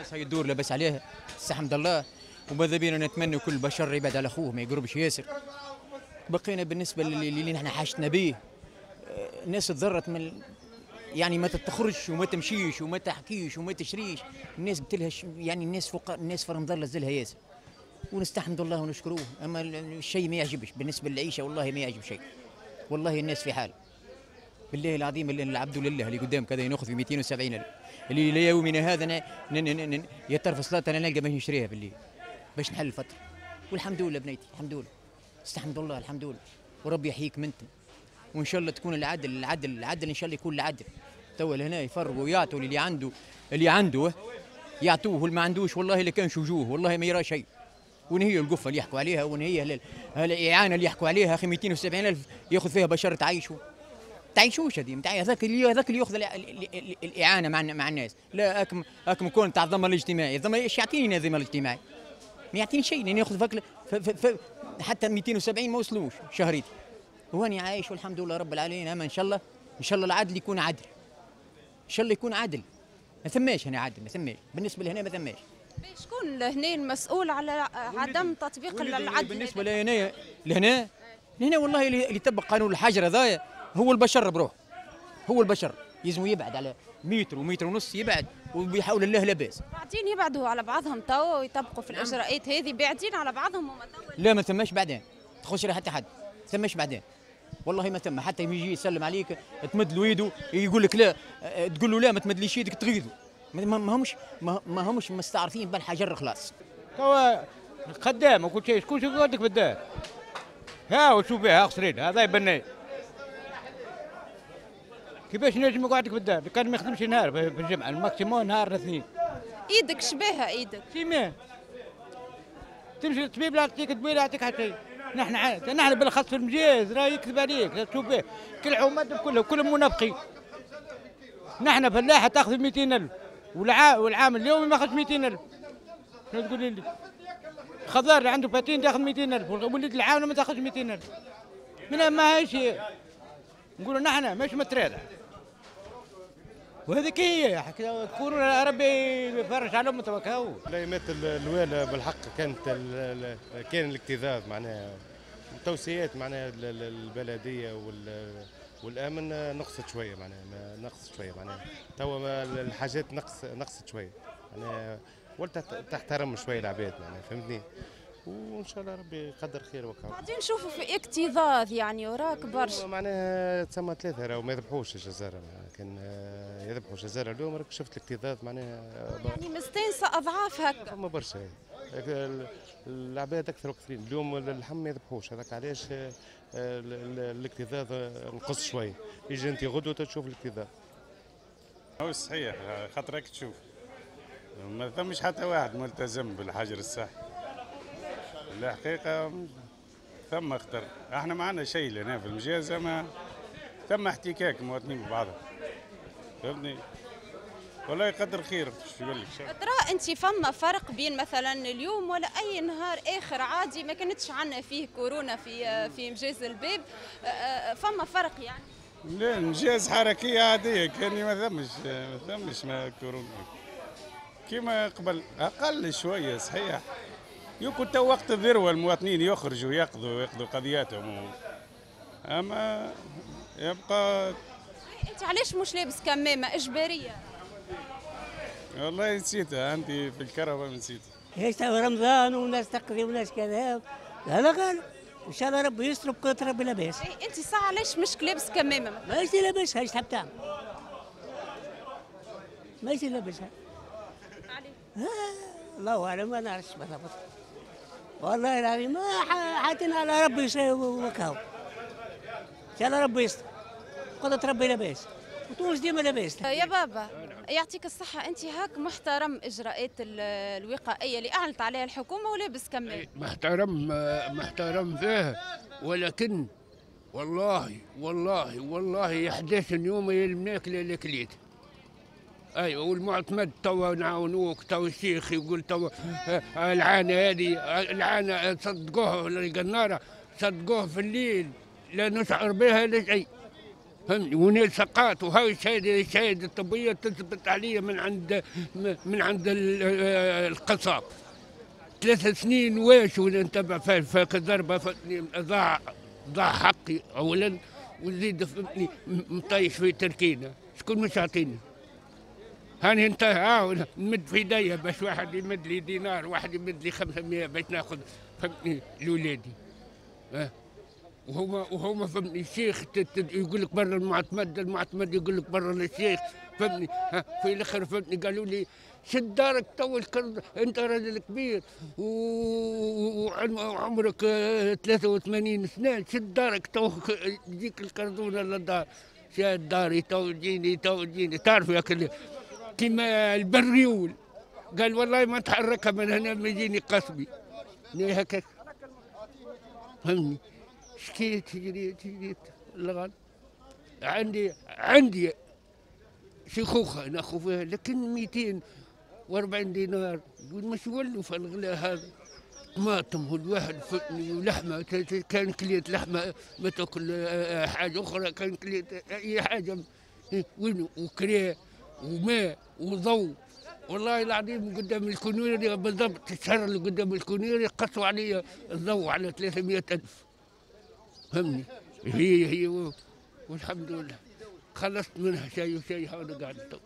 الناس هاي الدور لاباس عليها، الحمد لله، وماذا بينا نتمنى كل بشر يبعد على اخوه ما يقربش ياسر. بقينا بالنسبة للي نحن حاجتنا به، الناس تضرت من يعني ما تخرجش وما تمشيش وما تحكيش وما تشريش، الناس بتلهش يعني الناس فوق الناس في رمضان لزلها ياسر. ونستحمد الله ونشكروه، اما الشيء ما يعجبش بالنسبة للعيشه، والله ما يعجب شيء. والله الناس في حال بالله العظيم، اللي العبد لله اللي قدام كذا ناخذ في 270 الف، اللي ليومنا هذا يطرف صلاة انا نلقى باش نشريها بالليل باش نحل الفترة. والحمد لله بنيتي، الحمد لله، استحمد الله الحمد لله، وربي يحييك منتم، وان شاء الله تكون العدل العدل العدل، ان شاء الله يكون العدل. توا لهنا يفرقوا ويعطوا اللي عنده، اللي عنده يعطوه، واللي ما عندوش والله اللي كان وجوه والله ما يرى شيء. وين هي القفه اللي يحكوا عليها؟ وين هي الاعانة اللي يحكوا عليها؟ اخي 270 الف ياخذ فيها بشر تعيشوا تعيشوش هذه، هذاك اللي ياخذ الاعانة مع الناس. لا اكم كون تاع الضمان الاجتماعي، الضمان ايش يعطيني الضمان الاجتماعي؟ ما يعطيني شيء، لان ياخذ فك حتى 270 ما وصلوش شهريتي. واني عايش والحمد لله رب العالمين. اما ان شاء الله ان شاء الله العدل يكون عدل، ان شاء الله يكون عدل. ما ثماش هنا عدل، ما ثماش بالنسبة لهنا، ما ثماش. شكون هنا المسؤول على عدم تطبيق العدل؟ بالنسبة لهنا لهنا لهنا والله اللي يطبق قانون الحجر هذايا هو البشر بروح، هو البشر يلزم يبعد على متر ومتر ونص يبعد، وبحول الله لاباس. بعدين يبعدوا على بعضهم توا ويطبقوا في الاجراءات هذه، بعدين على بعضهم هما توا. لا ما ثماش بعدين، تخش حتى حد، ثماش بعدين والله ما ثم. حتى يجي يسلم عليك تمد له يده يقول لك لا، تقول له لا ما تمدليش يدك تغيظه. ما همش مستعرفين بالحجر خلاص. توا خدام وكل شيء، شكون يقعدك في الدار؟ ها وشوف بها خسرين هذا يبني. كيفاش نجم يقعدك في الدار؟ كان ما يخدمش نهار في الجمعة، ال maximum نهار اثنين. ايدك شبيهه ايدك؟ ciment. تمشي للطبيب لا يعطيك دواء لا يعطيك حتى شيء. نحن بالاخص في المجاز راه يكذب عليك، لا تشوف به، كل عماد كلهم منافقين. نحن فلاحة تاخذ 200,000 والعام اليومي ما اخذش 200,000. شنو تقول لي؟ الخضار اللي عنده patente ياخذ 200,000، ولد العاونه ما تاخذش 200,000. منها ما هيش نقولوا نحن مش مترادع. وهذيك هي كورونا ربي يفرج على امته وكاو. الايامات الاولى بالحق كانت كان الاكتظاظ معناها التوصيات معناها البلدية والامن نقصت شوية معناها، نقصت شوية معناها توا الحاجات نقصت شوية معناها، ولت تحترم شوية العباد معناها، فهمتني؟ وان شاء الله ربي يقدر خير وكاو. بعدين نشوفوا في اكتظاظ يعني وراك برشا معناها تسمى ثلاثة راهو ما يذبحوش الجزاره، كان يذبحوا الجزاره اليوم راك شفت الاكتظاظ معناها يعني مستانسه اضعاف هكا. فما برشا العباد اكثر وكثيرين اليوم اللحم ما يذبحوش، هذاك علاش الاكتظاظ نقص شوية. يجي انت غدوه تشوف الاكتظاظ. هو صحيح خاطرك تشوف ما ثمش حتى واحد ملتزم بالحجر الصحي. الحقيقة ثم خطر، احنا ما عندنا شيء لهنا في المجازة، ما ثم احتكاك مواطنين ببعضهم، فهمتني؟ والله يقدر خير. شو يقول لك؟ ترى انت فما فرق بين مثلا اليوم ولا اي نهار اخر عادي ما كانتش عندنا فيه كورونا في مجاز الباب، فما فرق يعني؟ لا مجاز حركية عادية كان ما ثمش ما كورونا كما قبل، اقل شوية صحيح. يمكن تو وقت الذروة المواطنين يخرجوا يقضوا قضياتهم، اما يبقى. انت علاش مش لابس كمامه اجباريه؟ والله نسيتها عندي في الكهرباء نسيتها. ايش رمضان وناس تقضي وناس كذا، هذا غالب. ان شاء الله ربي يستر بقدرة ربي لاباس. انت ساعة علاش مش لابس كمامه؟ ماشي لابسها، ايش تحب تعمل؟ ماشي لابسها. علاش؟ الله اعلم ما نعرفش بالضبط. والله العظيم ما حاتنا على ربي وكاو. ان شاء الله ربي يستر قدرة ربي لاباس. وتونس ديما لاباس. يا بابا يعطيك الصحة، أنت هاك محترم إجراءات الوقائية اللي أعلنت عليها الحكومة ولابس كمام. محترم محترم فيها، ولكن والله والله والله 11 يوم الماكلة اللي كليت. ايوه والمعتمد توا نعاونوك، توا الشيخ يقول توا العانة هذه العانة صدقوها القناره، صدقوها في الليل لا نشعر بها لا شيء. فهمني؟ ونال سقاط، وهاي الشهادة الطبية تثبت عليا من عند القصاب. 3 سنين واش وانا نتبع فاك الضربة، فهمتني؟ ضاع حقي اولا، وزيد فهمتني مطيش في تركينا، شكون مش يعطيني؟ هاني انت نمد في ايديا باش واحد يمد لي دينار، واحد يمد لي 500 باش ناخذ فهمتني لولادي. وهما فهمتني الشيخ يقول لك برا المعتمد، المعتمد يقول لك برا الشيخ، فهمتني؟ في الاخر فهمتني قالوا لي شد دارك تو، انت راجل كبير وعمرك 83 سنة، شد دارك تو تجيك الكردونه للدار. شاد داري تو تجيني تو تجيني، تعرف يا كيما البريول قال والله ما تحركها من هنا ما يجيني قصبي هكاك، فهمني؟ شكيت جريت جريت الغال. عندي شيخوخة ناخذ فيها، لكن 240 دينار مش ولوا في الغلاء هذا. طماطم والواحد ولحمه، كان كليت لحمه ما تاكل حاجة اخرى، كان كليت اي حاجة وين، وكريه وماء وضوء. والله العظيم قدام الكونيري بالضبط، الشهر اللي قدام الكونيري قصوا علي الضوء على 300,000، فهمني؟ هي والحمد لله خلصت منها شيء وشيء، هذا قاعد.